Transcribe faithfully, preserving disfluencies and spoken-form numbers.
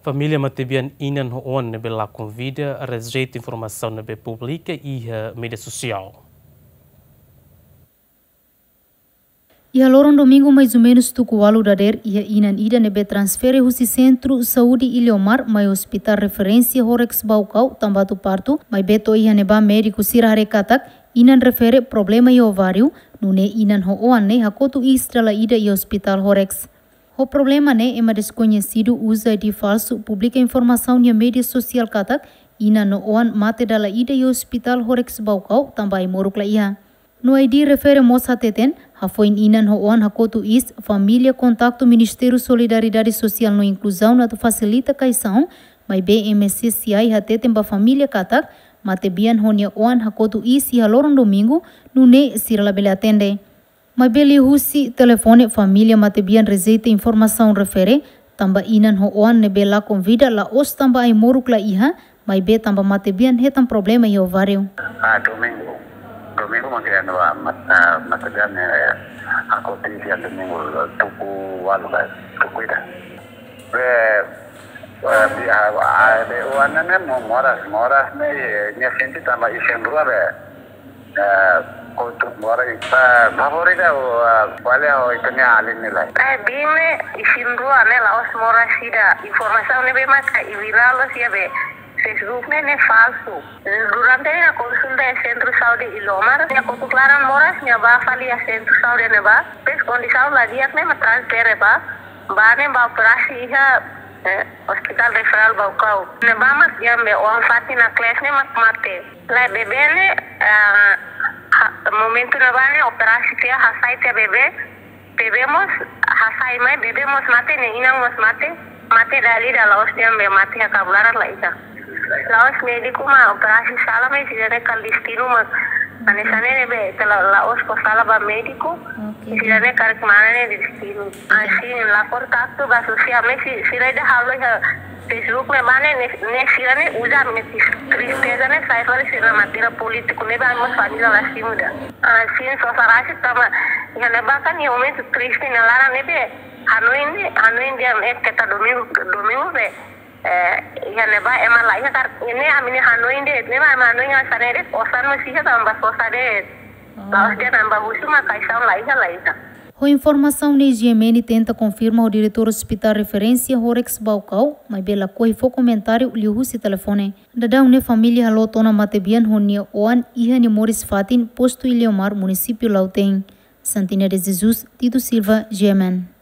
Família matebian inan ho oan ne'ebé lakon vida rejeita informasaun ne'ebé publika iha média sosiál. Iha loron domingu, mais ou menus tuku ualu dadeer, iha inan ida ne'ebé transfere husi Sentru Saúde Iliomar mai Hospitál Referénsia Horex Baucau, tanba atu partu, maibé to'o iha ne'ebá médiku sira haree katak inan refere problema iha ováriu, nune'e inan ho oan ne'e hakotu iis dala ida iha Hospitál Horex. Ho problema ne'e, ema deskoñesidu uza I D falsu publika informasaun iha média sosiál katak inan no oan mate dala ida iha Hospitál Horex Baucau tanba ai-moruk la iha. No I D refere mós hateten, hafoin inan ho oan hakotu iis, família kontaktu Ministériu Solidariedade Sosiál no Inkluzaun atu fasilita kaixaun, maibé M C C I hateten ba família katak matebian ho nia oan hakotu iis iha loron domingu, nune'e sira labele atende. Maibé liuhusi telefone, família matebian rejeita informasaun refere, tanba inan ho oan ne'ebé lakon vida la'ós tanba ai-moruk la iha, maibé tanba matebian hetan problema iha ováriu. Ah, domingu. Domingu matebian wa mat-, ah, matebian, eh, hakotu iis iha domingu, tuku ualu ka, tuku ida. Be, eh, bi-, ah, ah, be oan ne'e mo-, moras, moras ne'e, eh, nia sente tanba isin-rua be. Eh, kotuk moras ita favor ida, eh, bale ho ita-nia alin ne'e lai. Eh, biin ne'e isin-rua ne'e la'ós moras ida. Informasaun ne'ebé maka i viral loos iha be Facebook ne'e, ne'e falsu. Durante nia konsulta iha Sentru Saúde Iliomar, nia kotuk laran moras, nia bá fali iha Sentru Saúde ne'ebá. Depois kondisaun la di'ak ne'e mak transfere bá. Bá ne'e bá operasi iha, eh, Hospital Referral Baucau. Ne'ebá mak iha be oan fatin naklees ne'e mak mate. Lae, bebé ne'e, ah, ha-, momentu ne'ebá ne'e operasi tiha, hasai tiha bebé. Bebé mós hasai mai, bebé mós mate, nia inan mós mate. Mate dala ida, la'ós dehan be mate iha kabun laran, la iha. La'ós médiku mak operasi sala, maibé sira-ne'e kaldestinu mak. Hanesan ne'e ne'ebé, ita la, la'ós fó sala ba médiku. Oke. Sira-ne'e karik mane ne'e destinu. Asin, lapor katak ba sosiál, maibé si-, sira ida halo iha Facebook ne'ebá ne'e, ne'e, ne'e sira-ne'e uza ami-nia tris-, tristeza ne'e sai fali sira matebian polítiku ne'ebé ami mós família la simu ida. Asin, sosa rasik tanba iha ne'ebá kan iha momentu triste nia laran ne'ebé. Hanoin ne'e, hanoin dehan ne'e keta domingu, domingu be. Eh, iha ne'ebá ema la iha karik, ne'e ami-nia hanoin de'it, ne'ebá ema hanoin hanesan ne'e de'it, osan mós iha tanba sosa de'it. La'ós dehan tanba husu mak kaixaun la iha, la iha. Ho informasaun ne'e G M N tenta konfirma ho diretór Hospitál Referénsia Horex Baucau, maibé lakohi fó komentáriu liuhusi telefone. Daudaun ne'e família haloot ona matebian ho nia oan iha nia moris fatin, Postu Iliomar, Munisípiu Lautém. Santina de Jesus, Tito Silva, G M N.